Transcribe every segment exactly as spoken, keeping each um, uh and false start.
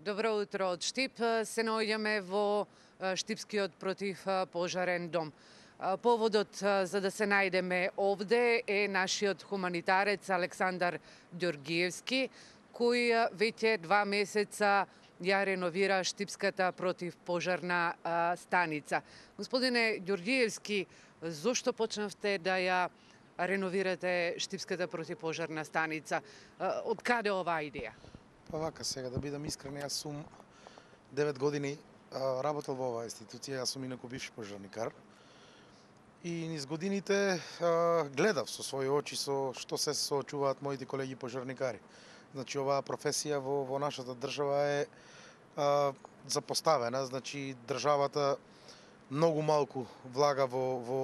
Добро утро од Штип. Се наоѓаме во Штипскиот противпожарен дом. Поводот за да се најдеме овде е нашиот хуманитарец Александар Ѓоргиевски, кој веќе два месеца ја реновира Штипската противпожарна станица. Господине Ѓоргиевски, зошто почнавте да ја реновирате Штипската противпожарна станица? Од каде оваа идеја? Па вака, сега да бидам искрен, јас сум девет години а, работел во оваа институција, јас сум инаку бивш пожарникар. И низ годините а, гледав со своји очи со што се соочуваат моите колеги пожарникари. Значи, оваа професија во, во нашата држава е а, запоставена, значи државата многу малку влага во, во,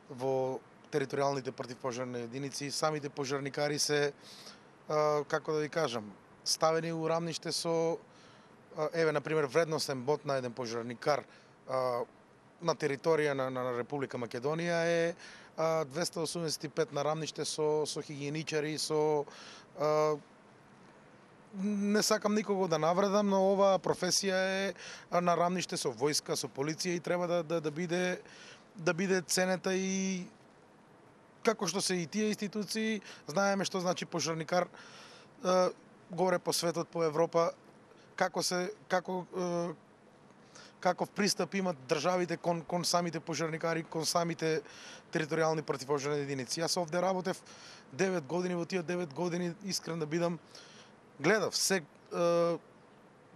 во територијалните противпожарни единици. Самите пожарникари се, а, како да ви кажам, ставени у рамниште со, еве, например, вредносен бод на еден пожарникар а, на територија на, на Република Македонија е а, двесте осумдесет и пет на рамниште со, со хигиеничари, со... А, не сакам никого да навредам, но оваа професија е на рамниште со војска, со полиција и треба да, да, да биде да биде ценета и како што се и тие институции, знаеме што значи пожарникар а, горе по светот, по Европа, како се како е, каков пристап имат државите кон кон самите пожарникари, кон самите територијални противпожарни единици. Јас овде работев девет години, во тие девет години, искрен да бидам, гледав се е,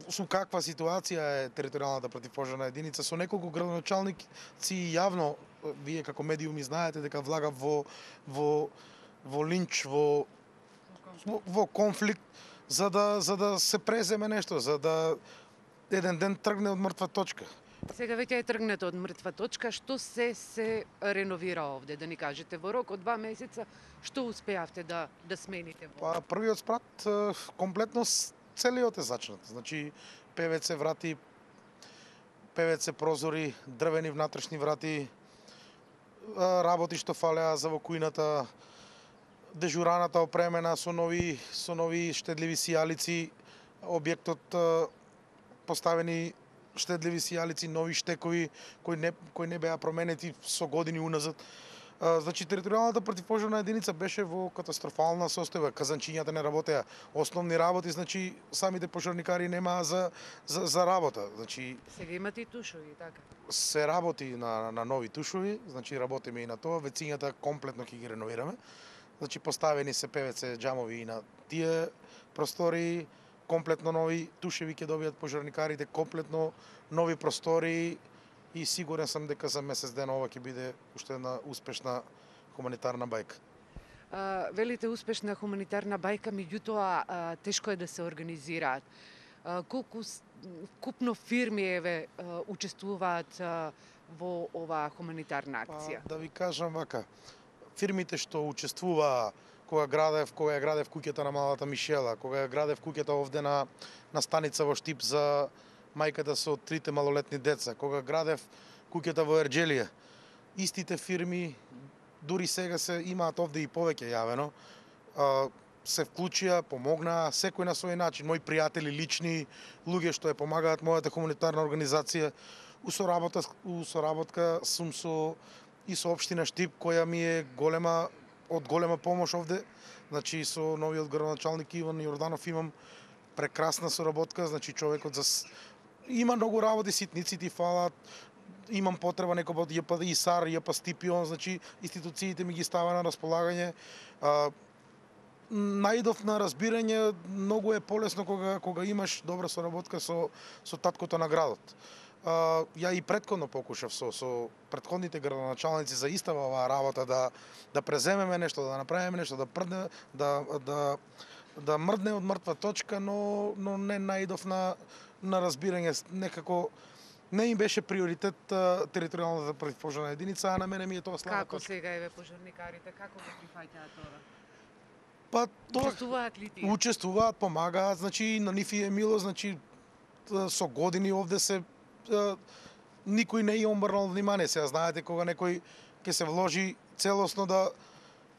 со каква ситуација е територијалната противпожарна единица, со неколку градоначалници јавно, вие како медиуми знаете дека влага во во во линч, во во, во конфликт, за да за да се преземе нешто, за да еден ден тргне од мртва точка. Сега веќе е тргнато од мртва точка, што се се реновира овде, да ни кажете, во рок од два месеца, што успеавте да да смените во? Па првиот спрат комплетно целиот е зачнат. Значи Пе Ве Це врати, Пе Ве Це прозори, дрвени внатрешни врати, работи што фалеа за во кујната, дежураната опремена со нови со нови штедливи сијалици, објектот поставени штедливи сијалици, нови штекови кои не кои не беа променети со години уназад. Значи територијалната противпожарна единица беше во катастрофална состојба, казанчињата не работеа, основни работи, значи самите пожарникари немаа за за за работа. Значи сега имате и тушови, така. Се работи на на нови тушови, значи работиме и на тоа, вецињата комплетно ќе ги реновираме. Значи поставени се Пе Ве Це џамови и на тие простори, комплетно нови тушеви ќе добијат пожарникарите, комплетно нови простори и сигурен сум дека за месец дена ова ќе биде уште една успешна хуманитарна бајка. А, велите успешна хуманитарна бајка, меѓутоа тешко е да се организираат. А, колку купно фирми еве учествуваат а, во оваа хуманитарна акција? Па, да ви кажам вака, фирмите што учествуваа кога градев, кога ја градев куќата на малата Мишела, кога ја градев куќата овде на на станица во Штип за мајката со трите малолетни деца, кога градев куќата во Ерџелија, истите фирми дури сега се имаат овде и повеќе јавено, а, се вклучија, помогнаа секој на свој начин, мои пријатели лични, луѓе што ја помагаат мојата хуманитарна организација. У соработка, у соработка сум со и со општина Штип, која ми е голема од голема помош овде. Значи со новиот градоначалник Иван Јорданов имам прекрасна соработка, значи човекот за има многу работи, ситници фалат, имам потреба некој од Ја Пе И С А Р, Ја Пе Стипион, значи институциите ми ги става на располагање. А, наидов на разбирање, многу е полесно кога кога имаш добра соработка со со таткото на градот. Uh, ја и претходно покушав со со претходните градоначалници за истава оваа работа да да преземеме нешто, да направиме нешто, да прдне, да да да мрдне од мртва точка, но но не наидов на на разбирање, некако не им беше приоритет uh, територијалната противпожарна единица, а на мене ми е тоа слаба Како точка. сега еве пожарникарите, како го прифаќаат тоа? Па тоа Учествуваат ли тие? Учествуваат, помагаат, значи на нив е мило, значи со години овде се никој не ја обрнал внимание. Сега знаете кога некој ќе се вложи целосно да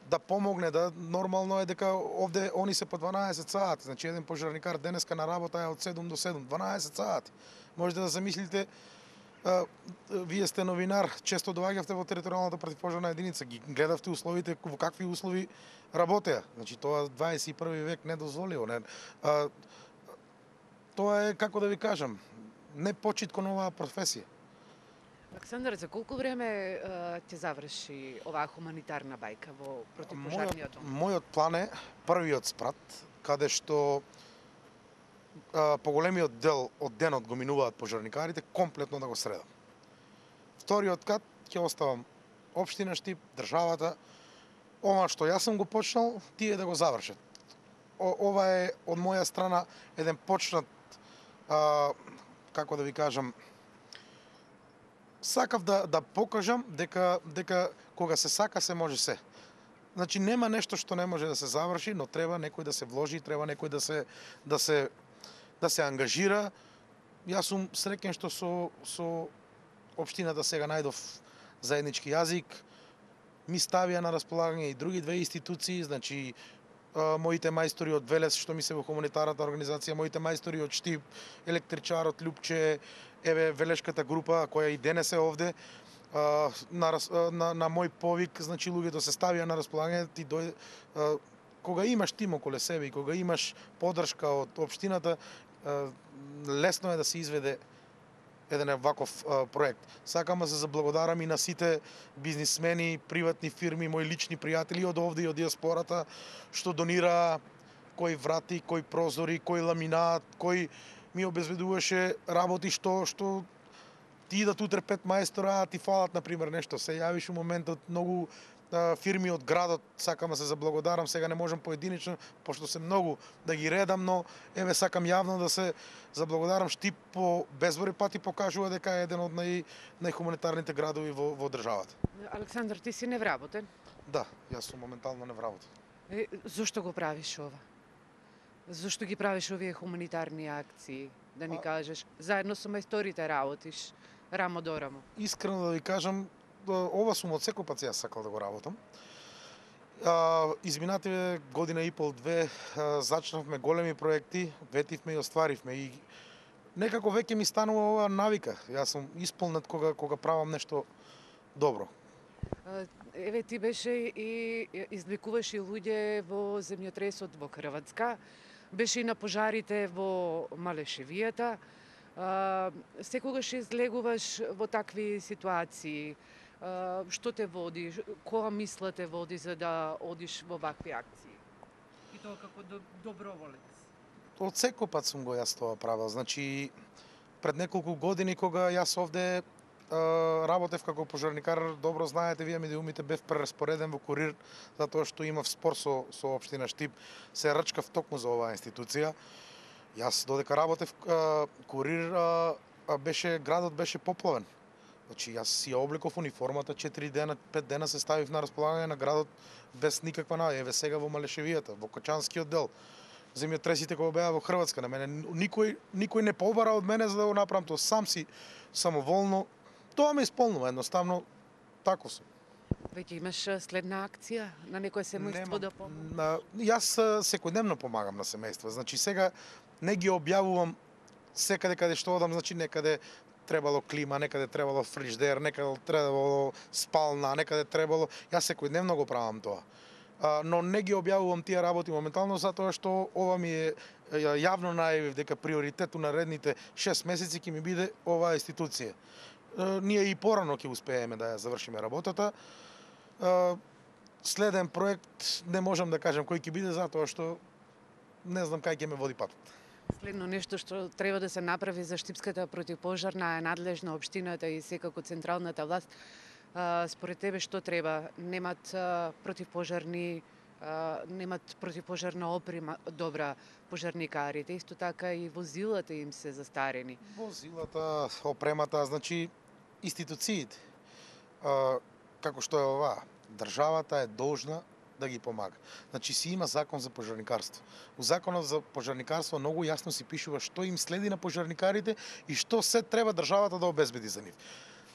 да помогне, да нормално е дека овде они се по дванаесет сати, значи еден пожарникар денеска на работа е од седум до седум, дванаесет сати. Можете да замислите, а, вие сте новинар, често доаѓавте во територијалната противпожарна единица, ги гледавте условите, во какви услови работеа. Значи тоа дваесет и први век недозволиво, не. А, тоа е, како да ви кажам, не почит кон оваа професија. Александар, за колку време е, ќе заврши оваа хуманитарна бајка во противпожарниот дом? Мојот план е првиот спрат, каде што а, поголемиот дел од денот го минуваат пожарникарите, комплетно да го средам. Вториот кат ќе оставам општина Штип, државата, ова што јас сум го почнал, тие да го завршат. О, ова е од моја страна еден почнат, а, како да ви кажам, сакав да да покажам дека дека кога се сака се може се. Значи нема нешто што не може да се заврши, но треба некој да се вложи, треба некој да се да се да се ангажира. Јас сум среќен што со со општината сега најдов заеднички јазик. Ми ставија на располагање и други две институции, значи моите мајстори од Велес што ми се во хуманитарната организација, моите мајстори од Штип, електричарот Лјупче, еве велешката група која и денес е овде, а, на, на, на мој повик, значи луѓето се ставија на располагање, ти дој, а, кога имаш тим околе себе и кога имаш поддршка од општината, а, лесно е да се изведе еден ваков а, проект. Сакам да се заблагодарам и на сите бизнисмени, приватни фирми, мои лични пријатели од овде и од диаспората, што донира кој врати, кој прозори, кој ламинат, кој ми обезбедуваше работи што што ти идат утре пет мајстора, а ти фалат на пример нешто. Се јавиш у моментот многу а, фирми од градот, сакам да се заблагодарам, сега не можам поединечно, пошто се многу да ги редам, но еве сакам јавно да се заблагодарам. Штип по безброј пати покажува дека е еден од нај најхуманитарните градови во во државата. Александар, ти си невработен? Да, јас сум моментално невработен. Е, зошто го правиш ова? Зошто ги правиш овие хуманитарни акции? Да ни А... кажеш, заедно со мајсторите работиш, рамо до рамо. Искрено да ви кажам, ова сум од секој пат јас сакал да го работам. А, изминативе година и пол, две, а, зачнавме големи проекти, ветивме и остваривме и некако веќе ми станува ова навика. Јас сум исполнет кога кога правам нешто добро. Еве ти беше и излекуваше луѓе во земјотресот во Хрватска, беше и на пожарите во Малешевијата. Секогаш излегуваш во такви ситуации. Што те води, која мисла те води за да одиш во вакви акции? И тоа како доброволец. Од секој пат сум го јас тоа правил. Значи, пред неколку години кога јас овде работев како пожарникар, добро знаете, вие медиумите, бев прераспореден во Курир, затоа што имав спор со, со општина Штип, се рачкав токму за оваа институција. Јас додека работев Курир, беше, градот беше поплавен. Значи, јас си ја обликов униформата, четири дена, пет дена се ставив на располагање на градот без никаква наја. Еве сега во Малешевијата, во Кочанскиот дел. Земјотресите кога беа во Хрватска, на мене никој никој не побара од мене за да го направам тоа, сам си самоволно. Тоа ме исполнува, едноставно тако сум. Веќе имаш следна акција на некое семејство да помогне? Јас секојдневно помагам на семејства. Значи сега не ги објавувам секаде каде што одам, значи некаде требало клима, некаде требало фриждер, некаде требало спална, некаде требало. Јас секојдневно го правам тоа. А, но не ги објавувам тие работи моментално затоа што ова ми е јавно најавив дека приоритет у наредните шест месеци ќе ми биде оваа институција. Ние и порано ќе успееме да ја завршиме работата. Следен проект не можам да кажам кој ќе биде затоа што не знам кај ќе ме води патот. Следно нешто што треба да се направи за Штипската противпожарна е надлежна општината и секако централната власт. Според тебе што треба? Немат противпожарни немат противпожарна опрема добра пожарникарите, исто така и возилата им се застарени. Возилата, опремата, значи институциите, а, како што е ова, државата е должна да ги помага. Значи си има закон за пожарникарство. У законот за пожарникарство многу јасно си пишува што им следи на пожарникарите и што се треба државата да обезбеди за нив.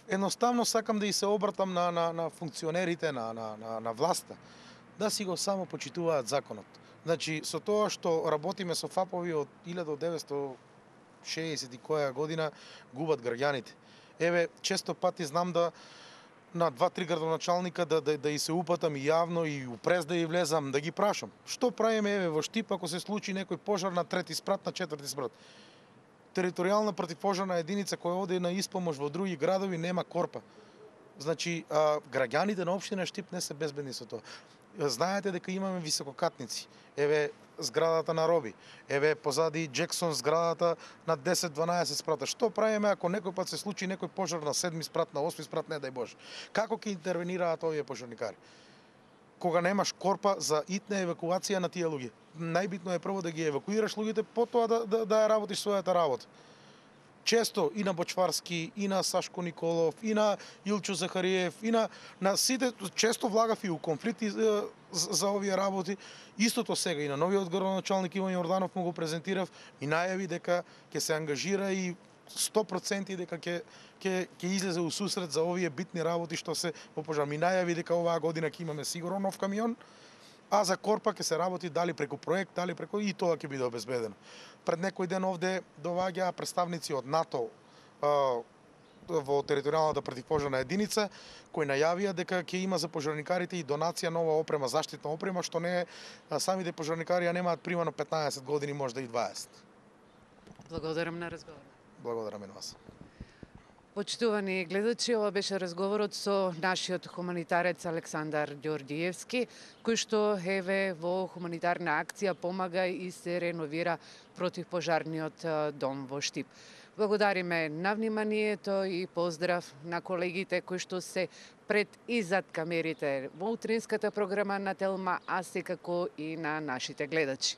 Едноставно сакам да и се обратам на, на, на функционерите, на, на, на, на власта. да си го само почитуваат законот. Значи, со тоа што работиме со фапови од илјада деветстотини и шеесет и која година, губат граѓаните. Еве, често пати знам да на два-три градоначалника да, да, да и се упатам и јавно и упрез да и влезам, да ги прашам. Што правиме еве во Штип ако се случи некој пожар на трети спрат, на четврти спрат? Територијална противпожарна единица која оде на испомош во други градови нема корпа. Значи, а, граѓаните на општина Штип не се безбедни со тоа. Знаете дека имаме висококатници. Еве зградата на Роби. Еве позади Джексон зградата на десет-дванаесет спрата. Што правиме ако некој пат се случи некој пожар на седми спрат, на осми спрат, не дај Боже? Како ќе интервенираат овие пожарникари? Кога немаш корпа за итна евакуација на тие луѓе. Најбитно е прво да ги евакуираш луѓето, потоа да, да, да ја работиш својата работа. Често и на Бочварски, и на Сашко Николов, и на Илчо Захариев, и на, на сите, често влагав и у конфликти за, за овие работи. Истото сега и на новиот градоначалник Иван Јорданов му го презентирав и најави дека ќе се ангажира и сто проценти дека ќе ќе ќе излезе у сусрет за овие битни работи што се во пожар. Ми најави дека оваа година ќе имаме сигурно нов камион, а за корпа ќе се работи дали преку проект, дали преку и тоа ќе биде обезбедено. Пред некој ден овде доваѓаа представници од НАТО а, во територијалната противпожарна единица, кои најавија дека ќе има за пожарникарите и донација нова опрема, заштитна опрема, што не е, самите пожарникари ја немаат примано петнаесет години, можда и дваесет. Благодарам на разговор. Благодарам и на вас. Почитувани гледачи, ова беше разговорот со нашиот хуманитарец Александар Ѓорѓиевски, кој што еве во хуманитарна акција помага и се реновира противпожарниот дом во Штип. Благодариме на вниманието и поздрав на колегите кои што се пред и зад камерите во утринската програма на Телма, а секако и на нашите гледачи.